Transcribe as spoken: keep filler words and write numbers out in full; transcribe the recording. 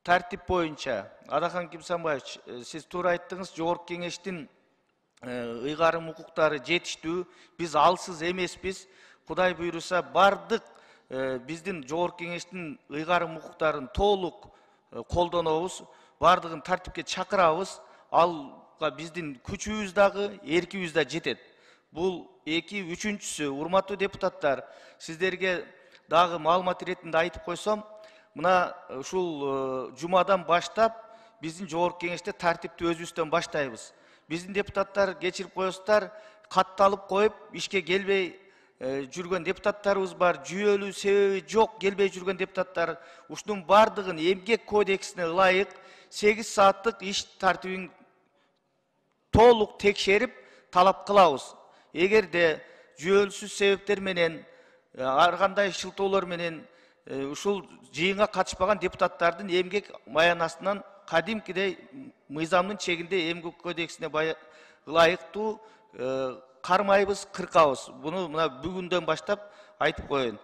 тартип боюнча Адахан Кимсанбаевич, сиз туура айттыңыз, жогорку кеңештин ыйгарым укуктары жетиштүү, биз алсыз эмеспиз. Кудай буйруса бардык биздин жогорку кеңештин ыйгарым укуктарын толук колдонобуз, бардыгын тартипке чакырабыз. Алга биздин күчүбүз дагы, эркибиз да жетет. Бул эки, үчүнчүсү, урматтуу депутаттар, сиздерге дагы маалымат иретинде айтып койсом, мына ушул жумадан баштап биздин жогорку кеңеште тартипти өзүбүздөн баштайбыз. Биздин депутаттар кечирип коесуздар, катталып коюп, ишке келбей жүргөн депутаттарыбыз бар, жүйөлүү себеби жок келбей жүргөн депутаттар. Ушунун бардыгын эмгек кодексине ылайык сегиз сааттык иш тартибин толук текшерип талап кылабыз. Эгерде жүйөлүсүз себептер менен, ар кандай шылтоолор менен ушул жыйынга катышпаган депутаттардын эмгек маянасынан кадимкидей мыйзамдын чегинде эмгек кодексине ылайыктуу кармайбыз, кыркабыз. Буну мына бүгүндөн баштап айтып коеюн.